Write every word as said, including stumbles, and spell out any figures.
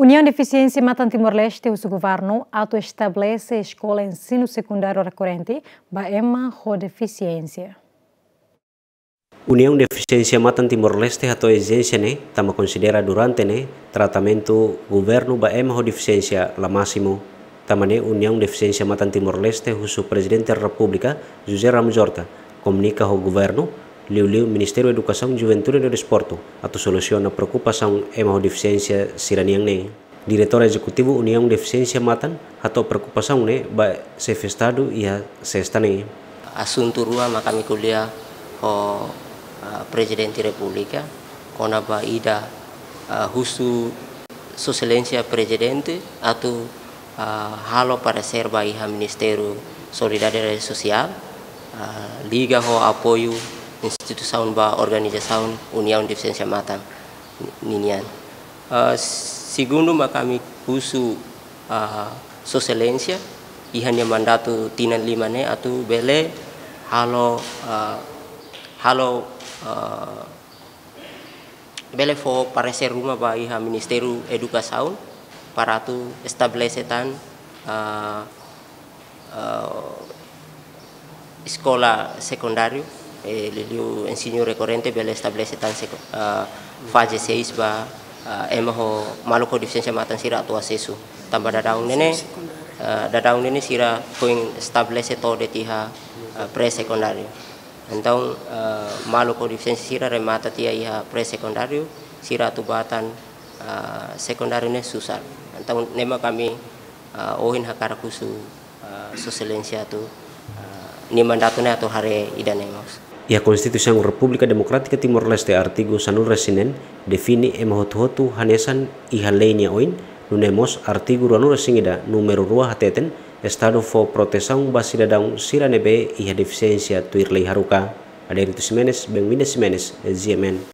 Uniaun Defisiénsia Matan Timor-Leste husu governu atu estabelese eskola ensinu sekundáriu rekorrente ba ema ho defisiénsia. Uniaun Defisiénsia Matan Timor-Leste hato'o ezijénsia ne'e tanba konsidera durante ne'e tratamentu governu ba ema ho defisiénsia la másimu. Tanba ne'e Uniaun Defisiénsia Matan Timor-Leste husu Prezidente Repúblika José Ramos Horta komunika ho governu, liuliu Ministériu Edukasaun, Juventude no Desportu, atu solusiona preokupasaun ema ho defisiénsia sira-nian ne'e. Diretór Ezekutivu Uniaun Defisiénsia Matan hato'o preokupasaun ne'e ba Xefe Estadu iha sesta ne'e. Asuntu rua mak ami ko'alia ho, ah, Prezidente Repúblika, kona-ba ida, ah, husu Sua Exelénsia Prezidente atu, ah, halo paresér ba iha Ministériu Solidariedade Sosiál, ah, liga ho apoiu instituisaun ba organizasaun Uniaun Defisiénsia Matan ninian. Ah, segundu mak ami husu, ah, Sua Exelénsia iha nia mandatu tinan lima ne'e atu bele halo, ah, halo, ah, bele fó paresér ruma ba iha Ministériu Edukasaun para atu estabelese tan, ah, ah, eskola sekundáriu, eh, liuliu ensinu rekorrente bele estabelese tan seko-, ah, faze seis ba, ah, ema ho maluk ho defisiénsia matan sira atu asesu. Tanba daudaun ne'e ne'e, ah, daudaun ne'e ne'e sira foin estabelese to'o de'it iha, ah, pré-sekundáriu. Entaun, ah, maluk ho defisiénsia sira remata tiha iha pré-sekundáriu, sira atu bá tan, ah, sekundáriu ne'e susar. Entaun ne'e mak ami, ah, ohin hakarak husu, ah, Sua Exelénsia atu, ah, nia mandatu ne'e atu haree ida-ne'e mós. Iha Konstituisaun Repúblika Demokrátika Timor-Leste artigu sanulu-resin-neen define ema hotu-hotu hanesan iha lei nia oin, nune'e mós artigu ruanulu-resin-ida númeru rua hateten Estadu fó protesaun ba sidadaun sira ne'ebé iha defisiénsia tuir lei haruka. Adérito Ximenes, Benvinda Ximenes, G M N.